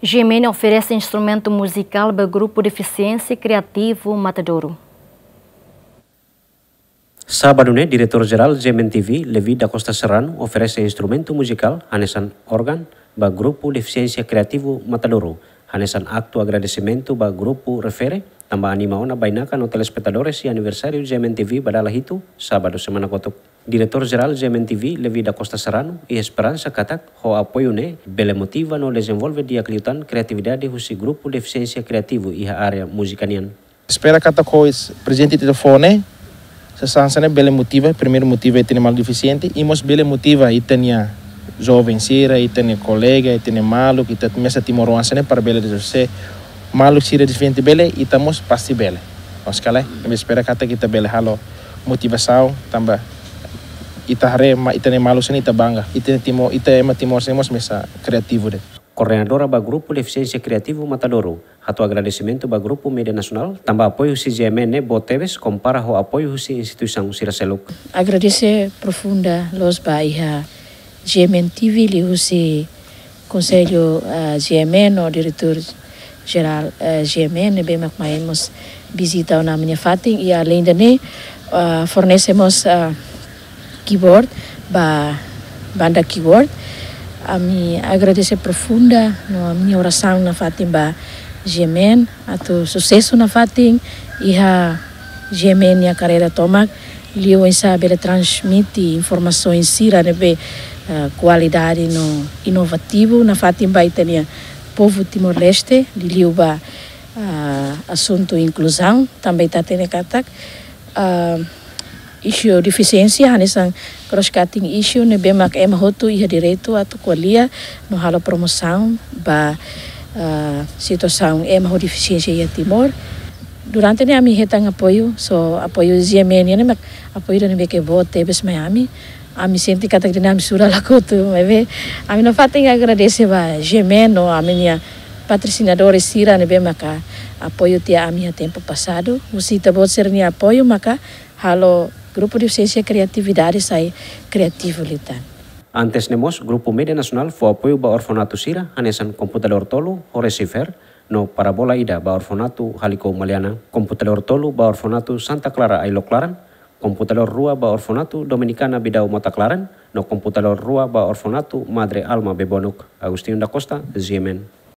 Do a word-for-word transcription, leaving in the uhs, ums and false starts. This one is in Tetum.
G M N oferese instrumentu muzikál ba grupu defisiénsia kriativu Matadouro. Sábadu ne'e, Diretór Jerál G M N T V, Levi da Costa Serrano, oferese instrumentu muzikál hanesan órgan ba grupu defisiénsia kriativu Matadouro, hanesan aktu agradesimentu ba grupu refere, tanba anima ona bainaka no telespetadores iha aniversáriu G M N T V ba dala hitu, sábadu semana kotuk. Diretór Jerál G M N T V, Levi da Costa Serrano, iha esperansa katak ho apoiu ne'e bele motiva no dezenvolve di'ak liután kriatividade husi grupu defisiénsia kriativu iha área múzika nian. Espera katak ho prezente ita fó ne'e, sasán sira-ne'e bele motiva, primeiru motiva ita-nia maluk defisiente, i mós bele motiva ita-nia joven sira, ita-nia kolega, ita-nia maluk, ita mesak timoroan sira-ne'e para bele rezolve. Maluk sira defisiente bele, ita mós pasti bele. Maske lae, ami espera katak ita bele halo motivasaun, tanba ita haree ita-nia maluk sira-ne'e ita bangga. Ita Timor, ita ema Timor sira-ne'e mós mesak kriativu de'it. Koordenadora ba grupu defisiénsia kriativu Matadouro hato'o agradesimentu ba grupu média nasionál, tanba apoiu husi G M N ne'e boot tebes kompara ho apoiu husi instituisaun sira seluk. Agradese profunda loos ba iha G M N T V liuhusi Konsellu, ah, G M N no Diretór Jerál, ah, G M N ne'ebé mak mai mós vizita ona ami-nia fatin, i aleinde ne'e, ah, fornese mós, ah, keyboard ba banda keyboard. Ami agradese profunda no ami-nia orasaun nafatin ba G M N atu susesu nafatin iha G M N nia karreira tomak, liu oinsá bele transmite informasaun sira ne'ebé, ah, kualidade no inovativu nafatin ba ita-nia povu Timor-Leste, liuliu ba, ah, asuntu inkluzaun, tanba ita hatene katak, ah, isu defisiénsia hanesan cross-cutting issue ne'ebé mak ema hotu iha direitu atu ko'alia no halo promosaun ba, ah, situasaun ema ho defisiénsia iha Timor. Durante ne'e ami hetan apoiu, só apoiu G M N nian ne'e mak apoiu ida ne'ebé ke boot tebes mai ami. Ami sente katak dehan ami sura lakotu, maibé ami nafatin agradese ba G M N no ami-nia patrosinadores sira ne'ebé maka apoiu tiha ami iha tempu pasadu. Husi ita-boot sira-nia apoiu maka halo grupu defisiénsia kriatividade sai kriativu liután. Antes ne'e mós, grupu média nasionál fó apoiu ba orfanatu sira, hanesan komputadór tolu ho receiver, no parabola ida ba orfanatu Haliko Maliana, komputadór tolu ba orfanatu Santa Clara Ailok Laran, komputadór rua ba orfanatu Dominikana Bidau Mota Klaran, no komputadór rua ba orfanatu Madre Alma Bebonuk. Agostinho da Costa, G M N.